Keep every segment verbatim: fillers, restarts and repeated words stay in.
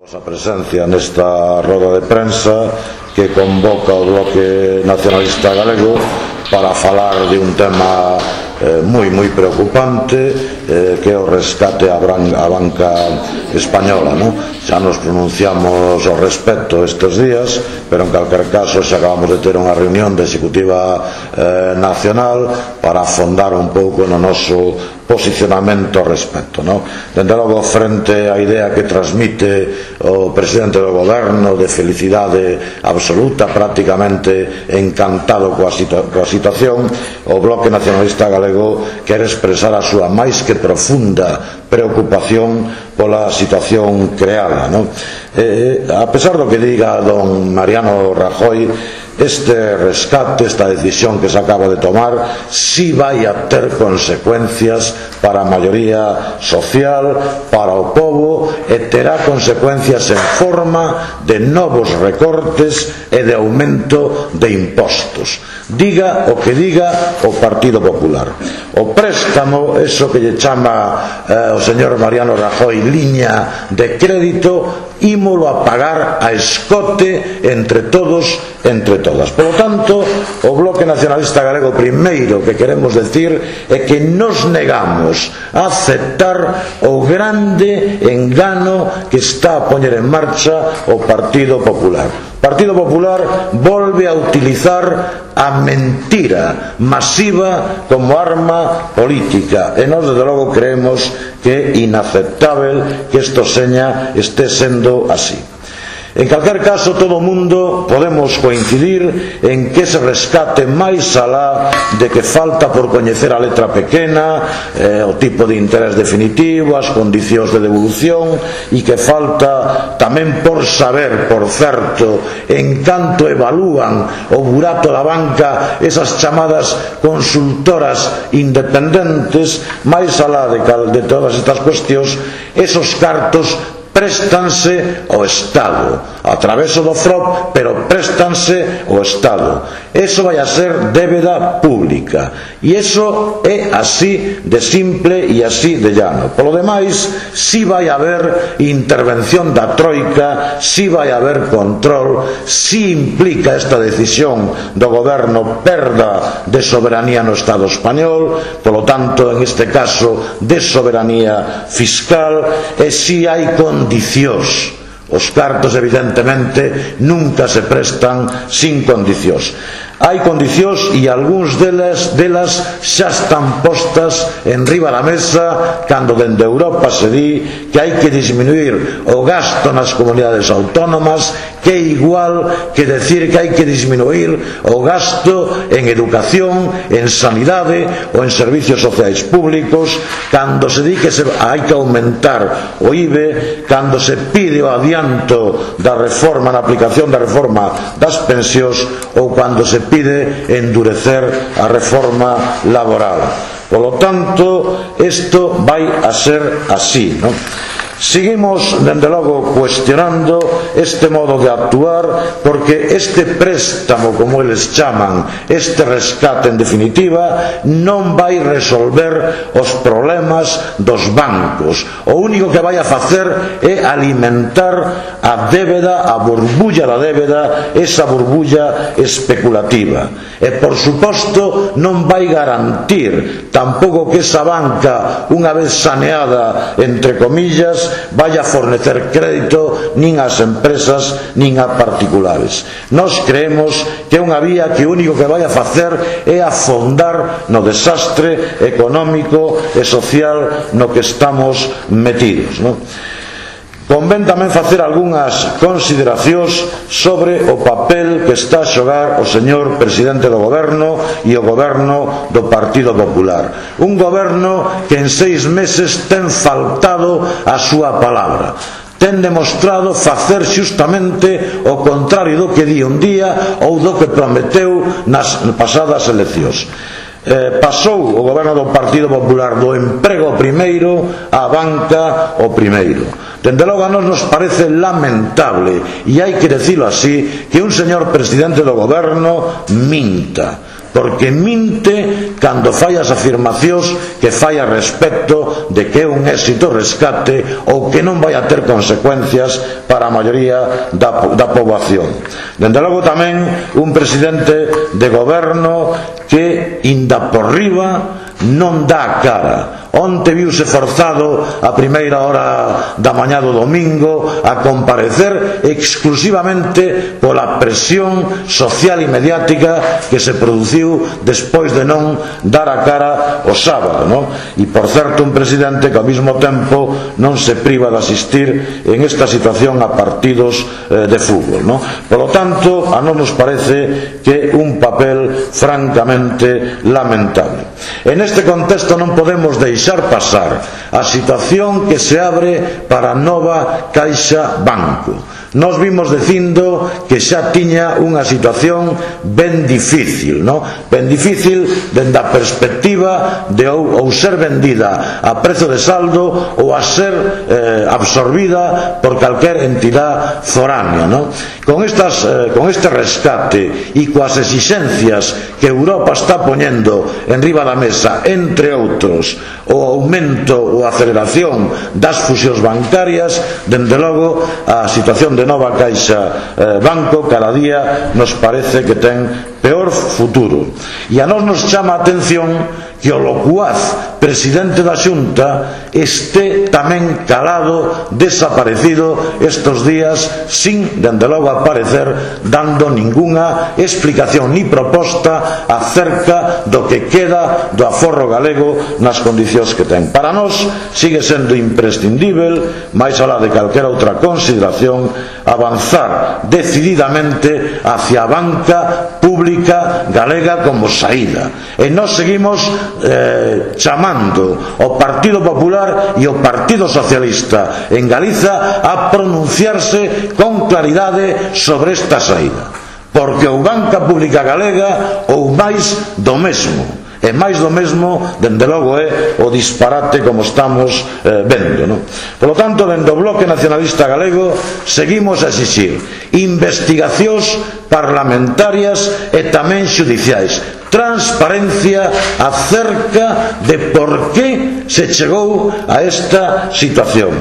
A presencia nesta roda de prensa que convoca o Bloque Nacionalista Galego para falar de un tema eh, moi moi preocupante eh, que é o rescate á banca española, non? Xa nos pronunciamos ao respecto estes días, pero en calquer caso xa acabamos de ter unha reunión de Executiva eh, Nacional para afondar un pouco no noso posicionamento ao respecto, non? Dende logo, frente á idea que transmite o presidente do goberno de felicidade absoluta, prácticamente encantado coa, situa coa situación, o Bloque Nacionalista Galego quere expresar a súa máis que profunda preocupación pola situación creada, non? Eh, a pesar do que diga don Mariano Rajoy, este rescate, esta decisión que se acaba de tomar, sí vai a ter consecuencias para a maioría social, para o povo, e terá consecuencias en forma de novos recortes e de aumento de impostos. Diga o que diga o Partido Popular. O préstamo, eso que lle chama eh, o señor Mariano Rajoy liña de crédito, ímolo a pagar a escote entre todos, entre todas. Por lo tanto, o Bloque Nacionalista Galego primeiro que queremos decir é que nos negamos a aceptar o grande engano que está a poñer en marcha o Partido Popular. O Partido Popular volve a utilizar a mentira masiva como arma política, e nós desde logo creemos que é inaceptável que isto seña este sendo así. En calquer caso, todo o mundo podemos coincidir en que ese rescate máis alá de que falta por coñecer a letra pequena, eh, o tipo de interés definitivo, as condicións de devolución, e que falta tamén por saber, por certo, en canto evalúan o burato da banca esas chamadas consultoras independentes, máis alá de, de todas estas cuestións, esos cartos préstanse ao Estado, a través do F R O P, pero préstanse ao Estado. Eso vai a ser débeda pública, e eso é así de simple e así de llano. Polo demais, si vai haber intervención da Troika, si vai haber control, si implica esta decisión do goberno perda de soberanía no Estado español, polo tanto, en este caso, de soberanía fiscal, e si hai condicións. Os cartos, evidentemente, nunca se prestan sin condicións. Hai condicións e algúns delas, delas xa están postas en riba da mesa cando dende Europa se di que hai que disminuir o gasto nas comunidades autónomas, que é igual que decir que hai que disminuir o gasto en educación, en sanidade ou en servicios sociais públicos, cando se di que se hai que aumentar o I V E, cando se pide o adianto da reforma, na aplicación da reforma das pensións, ou cando se pide endurecer a reforma laboral. Por lo tanto, isto vai a ser así, non? Seguimos, dende logo, cuestionando este modo de actuar, porque este préstamo, como eles chaman, este rescate en definitiva, non vai resolver os problemas dos bancos. O único que vai a facer é alimentar a débeda, a burbulla da débeda, esa burbulla especulativa. E, por suposto, non vai garantir tampouco que esa banca, unha vez saneada, entre comillas, vaya a fornecer crédito nin ás empresas nin a particulares. Nós creemos que é unha vía que o único que vai a facer é afondar no desastre económico e social no que estamos metidos, non? Convén tamén facer algunhas consideracións sobre o papel que está a xogar o señor presidente do goberno e o goberno do Partido Popular. Un goberno que en seis meses ten faltado a súa palabra. Ten demostrado facer xustamente o contrario do que di un día ou do que prometeu nas pasadas eleccións. Eh, pasou o goberno do Partido Popular do emprego primeiro á banca o primeiro. Dende logo a nos nos parece lamentable, e hai que decirlo así, que un señor presidente do goberno minta. porque minte cando fai as afirmacións que fai a respecto de que é un éxito o rescate ou que non vai a ter consecuencias para a maioría da, da poboación. Dende logo tamén un presidente de goberno que inda por riba non dá a cara. Onte viuse forzado a primeira hora da mañá do domingo a comparecer exclusivamente pola presión social e mediática que se produciu despois de non dar a cara o sábado, non? E por certo un presidente que ao mesmo tempo non se priva de asistir en esta situación a partidos eh, de fútbol, non? Polo tanto, a non nos parece que un papel francamente lamentable. En este contexto non podemos deixar pasar a situación que se abre para a nova Caixa Banco. Nos vimos dicindo que xa tiña unha situación ben difícil, non? Ben difícil dende a perspectiva de ou, ou ser vendida a prezo de saldo ou a ser eh, absorbida por calquer entidade foránea, non? Con, estas, eh, con este rescate e coas exixencias que Europa está poñendo en riba da mesa, entre outros, o aumento ou aceleración das fusións bancarias, dende logo a situación de nova Caixa eh, Banco cada día nos parece que ten peor futuro. E a nós nos chama a atención que o locuaz presidente da Xunta este tamén calado, desaparecido estes días, sin, dende logo, aparecer dando ningunha explicación ni proposta acerca do que queda do aforro galego nas condicións que ten. Para nós sigue sendo imprescindível, máis alá de calquera outra consideración, avanzar decididamente hacia a banca pública galega como saída. E nós seguimos eh, chamando o Partido Popular e o Partido Socialista en Galiza a pronunciarse con claridade sobre esta saída, porque ou banca pública galega ou máis do mesmo. E máis do mesmo, dende logo, é o disparate como estamos eh, vendo, non? Por lo tanto, dende o Bloque Nacionalista Galego seguimos a exixir investigacións parlamentarias e tamén xudiciais, transparencia acerca de por que se chegou a esta situación,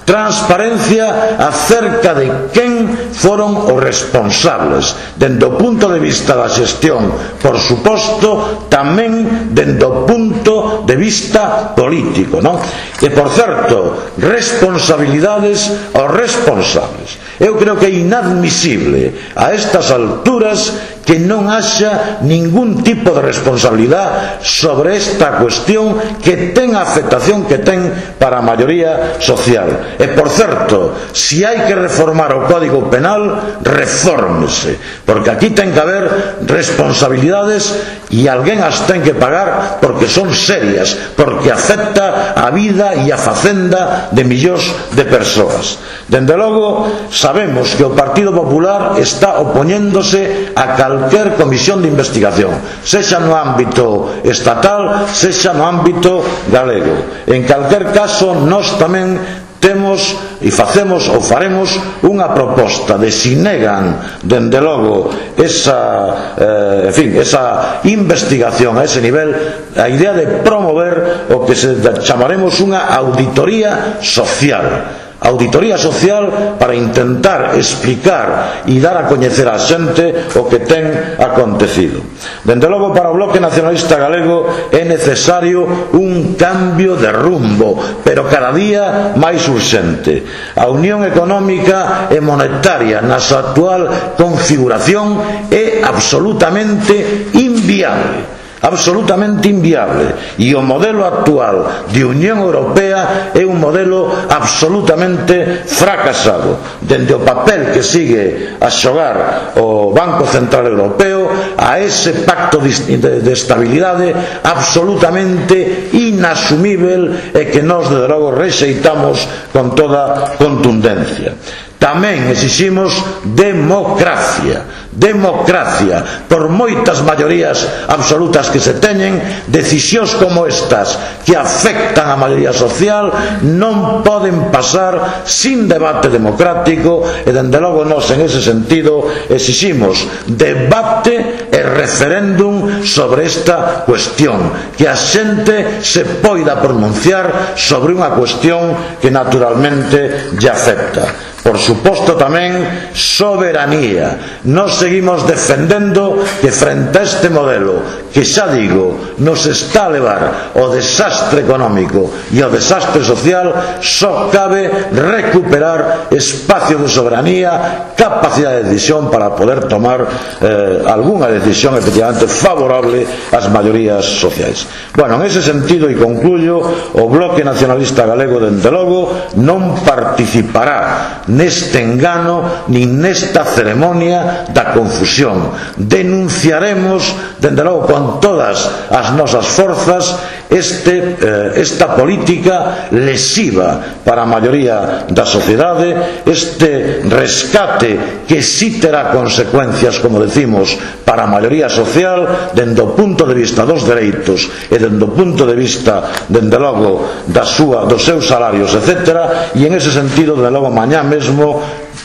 transparencia acerca de quen foron os responsables, dende o punto de vista da xestión, por suposto, tamén dende o punto de vista político, non? E, por certo, responsabilidades aos responsables. Eu creo que é inadmisible a estas alturas que non haxa ningún tipo de responsabilidade sobre esta cuestión que ten a afectación que ten para a maioría social. E, por certo, se hai que reformar o Código Penal, refórmese, porque aquí ten que haber responsabilidades e alguén as ten que pagar porque son serias, porque afecta a vida e a facenda de millóns de persoas. Dende logo, sabemos que o Partido Popular está opoñéndose a calquer comisión de investigación, sexa no ámbito estatal, sexa no ámbito galego. En calquer caso, nós tamén temos e facemos ou faremos unha proposta de si negan, dende logo, esa, eh, en fin, esa investigación a ese nivel, a idea de promover o que se chamaremos unha auditoría social. Auditoría social para intentar explicar e dar a coñecer a xente o que ten acontecido. Dende logo, para o Bloque Nacionalista Galego é necesario un cambio de rumbo, pero cada día máis urxente. A Unión Económica e Monetaria na súa actual configuración é absolutamente inviable. absolutamente inviable, e o modelo actual de Unión Europea é un modelo absolutamente fracasado, dende o papel que sigue a xogar o Banco Central Europeo a ese pacto de estabilidade absolutamente inasumível e que nós, desde logo, rexeitamos con toda contundencia. tamén exiximos democracia, democracia, por moitas maiorías absolutas que se teñen, decisións como estas que afectan a maioría social non poden pasar sin debate democrático, e dende logo nós en ese sentido exiximos debate e referéndum sobre esta cuestión, que a xente se poida pronunciar sobre unha cuestión que naturalmente lle afecta. Por suposto tamén soberanía. Nós seguimos defendendo que frente a este modelo que, xa digo, nos está a levar ao desastre económico e ao desastre social, só cabe recuperar espacio de soberanía, capacidade de decisión para poder tomar eh, algunha decisión efectivamente favorable ás maiorías sociais. Bueno, en ese sentido, e concluyo, o Bloque Nacionalista Galego, dende logo, non participará neste engano nin nesta ceremonia da confusión. Denunciaremos, dende logo, con todas as nosas forzas este, eh, esta política lesiva para a maioría da sociedade, este rescate que si terá consecuencias, como decimos, para a maioría social, dende o punto de vista dos dereitos e dende o punto de vista, dende logo, da súa, dos seus salarios, etcétera, e en ese sentido, dende logo, mañá mesmo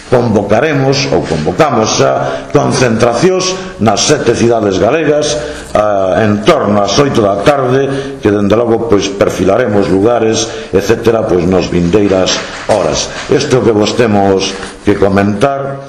convocaremos ou convocamos a concentracións nas sete cidades galegas eh, en torno ás oito da tarde, que dende logo pois perfilaremos lugares, etcétera, pois nos vindeiras horas. Isto que vos temos que comentar.